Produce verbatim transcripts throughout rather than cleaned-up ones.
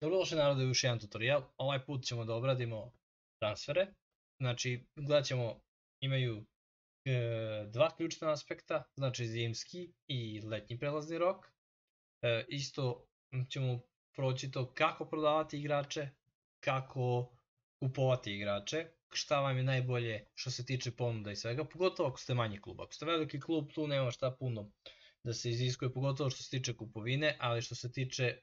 Dobrodošli narode u još jedan tutorial. Ovaj put ćemo da obradimo transfere. Znači, gledat ćemo, imaju e, dva ključna aspekta, znači zimski i letnji prelazni rok. E, isto ćemo proći to kako prodavati igrače, kako kupovati igrače, šta vam je najbolje što se tiče ponuda i svega, pogotovo ako ste manji klub. Ako ste veliki klub, tu nema šta puno da se iziskuje, pogotovo što se tiče kupovine, ali što se tiče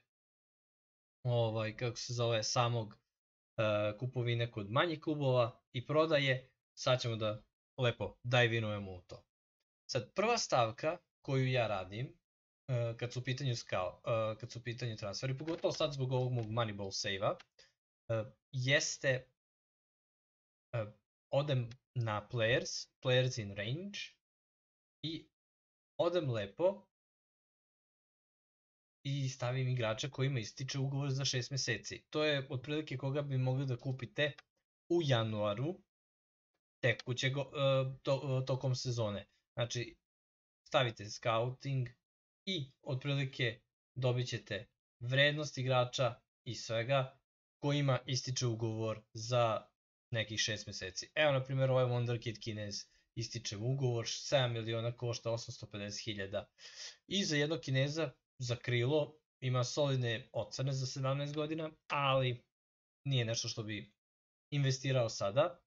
ovaj, kako se zove, samog uh, kupovine kod manjih klubova i prodaje, sad ćemo da lepo dive-inujemo u to. Sad, prva stavka koju ja radim, uh, kad su u pitanju skao, uh, kad su u pitanju transferi, pogotovo sad zbog ovog mog Moneyball save-a, uh, jeste uh, odem na players, players in range i odem lepo i stavim igrača kojima ističe ugovor za šest meseci. To je otprilike koga bi mogli da kupite u januaru tekućeg to, tokom sezone. Znači, stavite scouting i otprilike dobit ćete vrednost igrača i svega kojima ističe ugovor za nekih šest meseci. Evo, na primjer, ovaj Wonderkid Kinez ističe ugovor, sedam miliona košta osamsto pedeset hiljada. I za jednog Kineza za krilo ima solidne ocene za sedamnaest godina, ali nije nešto što bi investirao sada.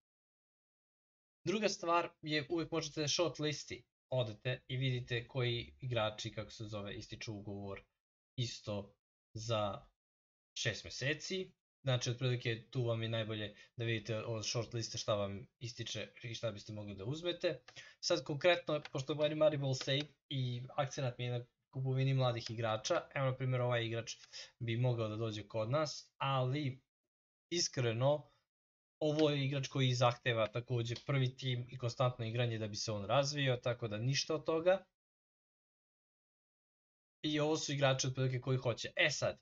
Druga stvar je, uvijek možete short listi, odete i vidite koji igrači, kako se zove, ističu ugovor isto za šest meseci. Znači, otprilike tu vam je najbolje da vidite od short liste šta vam ističe i šta biste mogli da uzmete. Sad konkretno, pošto je Moneyball save i akcenat mi je na kupovini mladih igrača, evo na primjer ovaj igrač bi mogao da dođe kod nas, ali iskreno ovo je igrač koji zahteva takođe prvi tim i konstantno igranje da bi se on razvio, tako da ništa od toga. I ovo su igrači otprilike koji hoće. E sad,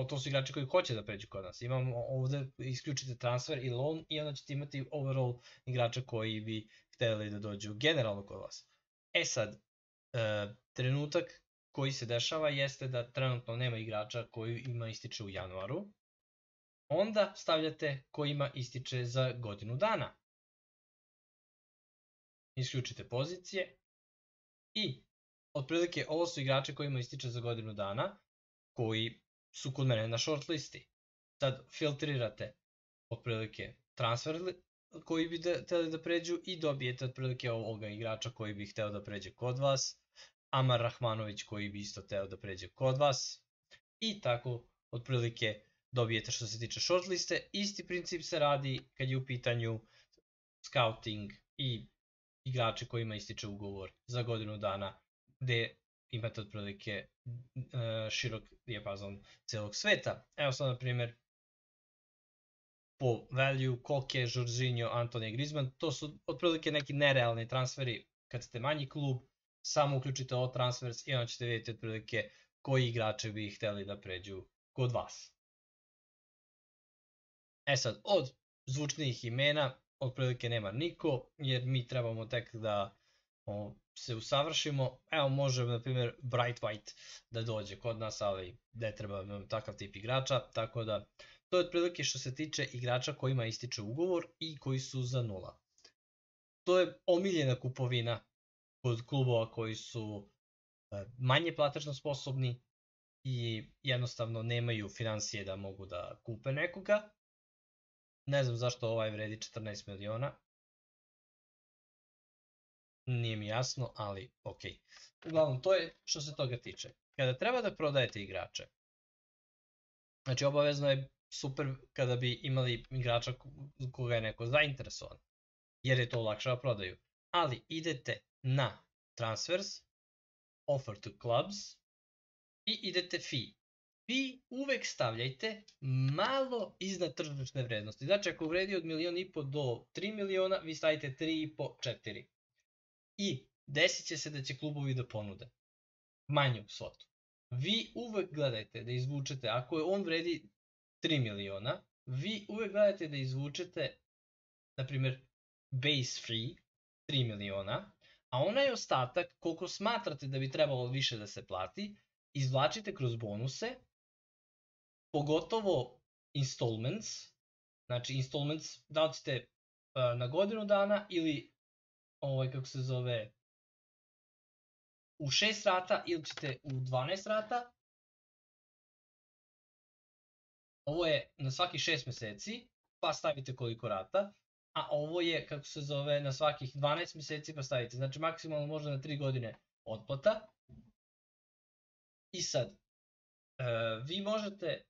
to su igrači koji hoće da pređu kod nas. Imamo ovde, isključite transfer i loan i onda ćete imati overall igrača koji bi hteli da dođu generalno kod vas. E sad, e, trenutak koji se dešava jeste da trenutno nema igrača koji ima ističe u januaru. Onda stavljate koji ima ističe za godinu dana. Isključite pozicije i otprilike ovo su igrače kojima ističe za godinu dana koji su kod mene na short listi. Sad filtrirate otprilike transfer koji bi hteli da pređu i dobijete otprilike ovoga igrača koji bi hteo da pređe kod vas, Amar Rahmanović koji bi isto hteo da pređe kod vas i tako otprilike dobijete što se tiče short liste. Isti princip se radi kad je u pitanju scouting i igrače kojima ističe ugovor za godinu dana gde imate otprilike širok dijapazon celog sveta. Evo sad na primjer po value, Koke, Jorginho, Antonio Griezmann, to su otprilike neki nerealni transferi kad ste manji klub, samo uključite ovo transfers i onda ćete vidjeti otprilike koji igrače bi hteli da pređu kod vas. E sad, od zvučnijih imena otprilike nema niko, jer mi trebamo tek da o, se usavršimo. Evo može na primjer Bright White da dođe kod nas, ali ne treba nam takav tip igrača, tako da to je otprilike što se tiče igrača kojima ističe ugovor i koji su za nula. To je omiljena kupovina kod klubova koji su manje platežno sposobni i jednostavno nemaju financije da mogu da kupe nekoga. Ne znam zašto ovaj vredi četrnaest miliona. Nije mi jasno, ali ok. Uglavnom, to je što se toga tiče. Kada treba da prodajete igrače, znači obavezno je super kada bi imali igrača koga je neko zainteresovan, jer je to lakše da prodaju. Ali idete na transfers, offer to clubs i idete fee. Vi uvek stavljajte malo iznad tržišne vrednosti. Znači ako vredi od milion i po do tri miliona, vi stavite tri i po, četiri. I desit će se da će klubovi da ponude manju svotu. Vi uvek gledajte da izvučete, ako je on vredi tri miliona, vi uvek gledajte da izvučete, na primjer, base free tri miliona, a onaj ostatak, koliko smatrate da bi trebalo više da se plati, izvlačite kroz bonuse, pogotovo installments, znači installments da li ćete uh, na godinu dana ili ovaj kako se zove u šest rata ili ćete u dvanaest rata. Ovo je na svakih šest meseci, pa stavite koliko rata, a ovo je, kako se zove, na svakih dvanaest meseci pa stavite, znači maksimalno možda na tri godine otplata. I sad, uh, vi možete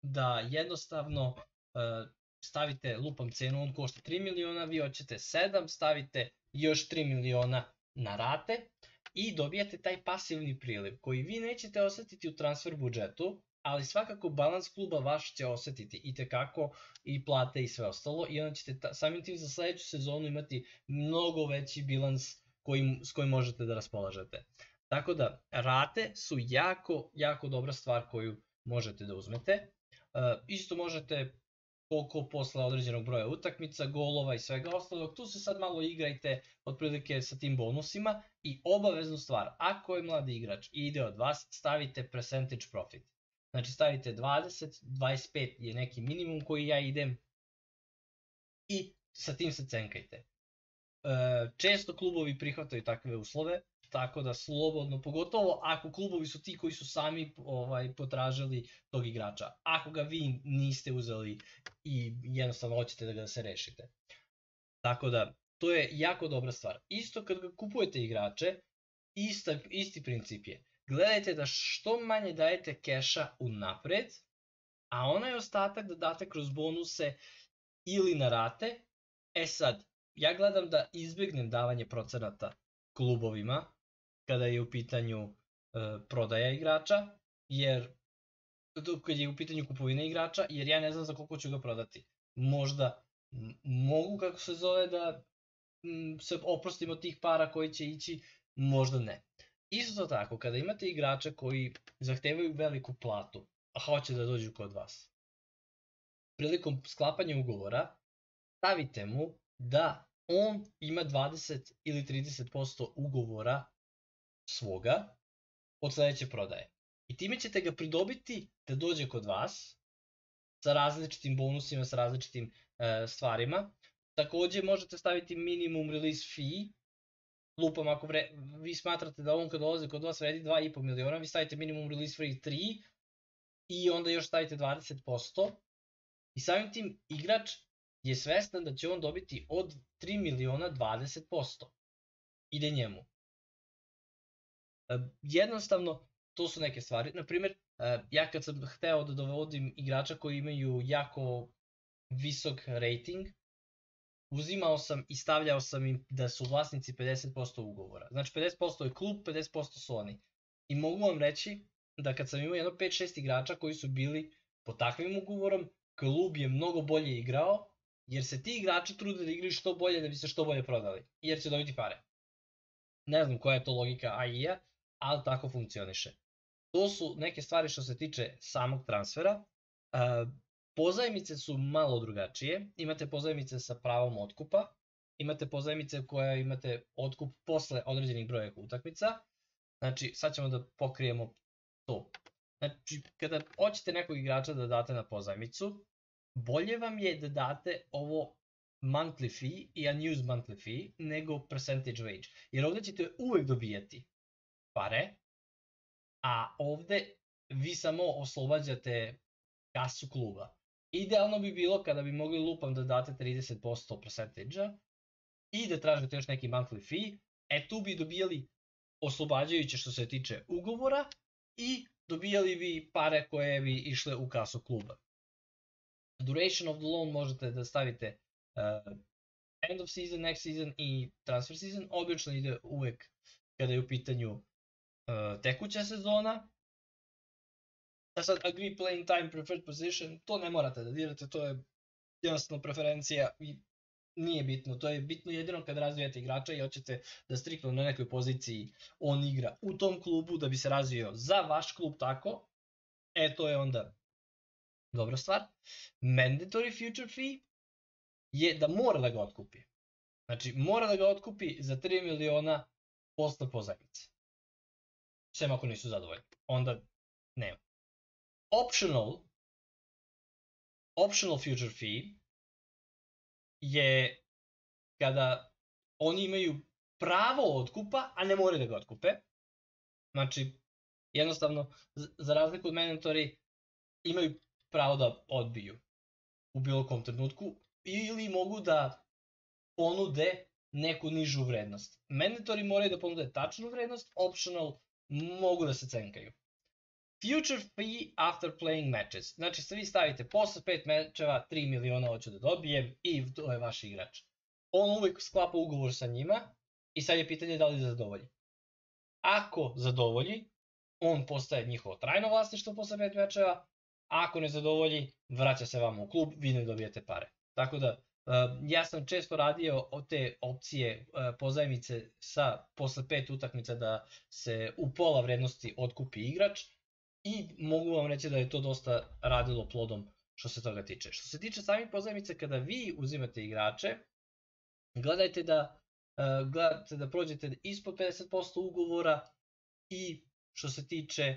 da jednostavno uh, stavite, lupam cenu, on košta tri miliona, vi hoćete sedam, stavite još tri miliona na rate i dobijate taj pasivni priliv koji vi nećete osetiti u transfer budžetu, ali svakako balans kluba vaš će osetiti i tekako i plate i sve ostalo i onda ćete ta, samim tim za sledeću sezonu imati mnogo veći bilans kojim, s kojim možete da raspolažete. Tako da rate su jako, jako dobra stvar koju možete da uzmete. Uh, isto možete koliko posle određenog broja utakmica, golova i svega ostalog, tu se sad malo igrajte otprilike sa tim bonusima i obaveznu stvar, ako je mladi igrač i ide od vas, stavite percentage profit. Znači stavite dvadeset, dvadeset pet je neki minimum koji ja idem i sa tim se cenkajte. Uh, često klubovi prihvataju takve uslove, tako da slobodno, pogotovo ako klubovi su ti koji su sami ovaj, potražili tog igrača. Ako ga vi niste uzeli i jednostavno hoćete da ga se rešite. Tako da, to je jako dobra stvar. Isto kad ga kupujete igrače, ista, isti princip je. Gledajte da što manje dajete keša unapred, a onaj ostatak da date kroz bonuse ili na rate. E sad, ja gledam da izbjegnem davanje procenata klubovima kada je u pitanju e, prodaja igrača, jer kad je u pitanju kupovina igrača, jer ja ne znam za koliko ću ga prodati. Možda mogu, kako se zove, da m, se oprostim od tih para koji će ići, možda ne. Isto tako, kada imate igrača koji zahtevaju veliku platu, a hoće da dođu kod vas, prilikom sklapanja ugovora, stavite mu da on ima dvadeset ili trideset posto ugovora svoga od sledeće prodaje. I time ćete ga pridobiti da dođe kod vas sa različitim bonusima, sa različitim e, stvarima. Takođe možete staviti minimum release fee. Lupam, ako vre, vi smatrate da on kad dolazi kod vas vredi dva i po miliona, vi stavite minimum release fee tri i onda još stavite dvadeset posto. I samim tim igrač je svestan da će on dobiti od tri miliona dvadeset posto. Ide njemu. Jednostavno, to su neke stvari. Naprimjer, ja kad sam hteo da dovodim igrača koji imaju jako visok rating, uzimao sam i stavljao sam im da su vlasnici pedeset posto ugovora. Znači pedeset posto je klub, pedeset posto su oni. I mogu vam reći da kad sam imao jedno pet šest igrača koji su bili pod takvim ugovorom, klub je mnogo bolje igrao, jer se ti igrači trude da igraju što bolje da bi se što bolje prodali, jer će dobiti pare. Ne znam koja je to logika A I-a, ali tako funkcioniše. To su neke stvari što se tiče samog transfera. Pozajmice su malo drugačije. Imate pozajmice sa pravom otkupa, imate pozajmice koje imate otkup posle određenih broja utakmica. Znači, sad ćemo da pokrijemo to. Znači, kada hoćete nekog igrača da date na pozajmicu, bolje vam je da date ovo monthly fee i unused monthly fee nego percentage wage. Jer ovde ćete uvek dobijati pare, a ovde vi samo oslobađate kasu kluba. Idealno bi bilo kada bi mogli lupam da date trideset posto percentage-a i da tražite još neki monthly fee, e tu bi dobijali oslobađajuće što se tiče ugovora i dobijali bi pare koje bi išle u kasu kluba. Duration of the loan možete da stavite uh, end of season, next season i transfer season. Obično ide uvek kada je u pitanju uh, tekuća sezona. A sad agree playing time, preferred position, to ne morate da dirate, to je jednostavno preferencija i nije bitno. To je bitno jedino kad razvijate igrača i hoćete da striktno na nekoj poziciji on igra u tom klubu da bi se razvio za vaš klub tako. E, to je onda dobra stvar. Mandatory future fee je da mora da ga otkupi. Znači, mora da ga otkupi za tri miliona posle pozajmice. Sem ako nisu zadovoljni. Onda nema. optional optional future fee je kada oni imaju pravo otkupa, a ne moraju da ga otkupe. Znači, jednostavno, za razliku od mandatory, imaju pravo da odbiju u bilo kom trenutku ili mogu da ponude neku nižu vrednost. Mandatory moraju da ponude tačnu vrednost, optional mogu da se cenkaju. Future fee after playing matches. Znači, vi stavite posle pet mečeva tri miliona hoću da dobijem i to je vaš igrač. On uvijek sklapa ugovor sa njima i sad je pitanje da li zadovolji. Ako zadovolji, on postaje njihovo trajno vlasništvo posle pet mečeva, ako ne zadovolji, vraća se vama u klub, vi ne dobijete pare. Tako da, ja sam često radio od te opcije pozajmice sa posle pet utakmica da se u pola vrednosti otkupi igrač i mogu vam reći da je to dosta radilo plodom što se toga tiče. Što se tiče samih pozajmice, kada vi uzimate igrače, gledajte da, gledajte da prođete ispod pedeset posto ugovora i što se tiče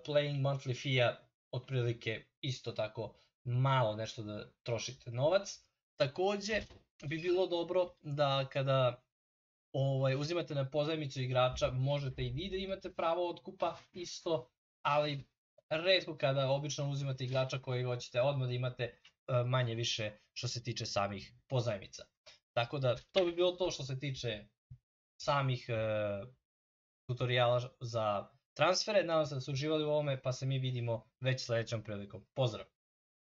playing monthly fee-a, otprilike isto tako malo nešto da trošite novac. Takođe bi bilo dobro da kada ovaj, uzimate na pozajmicu igrača, možete i vi da imate pravo otkupa isto, ali retko kada obično uzimate igrača koji hoćete odmah da imate manje više što se tiče samih pozajmica. Tako da to bi bilo to što se tiče samih e, tutoriala za transfere. Nadam se da ste uživali u ovome, pa se mi vidimo već sledećom prilikom. Pozdrav!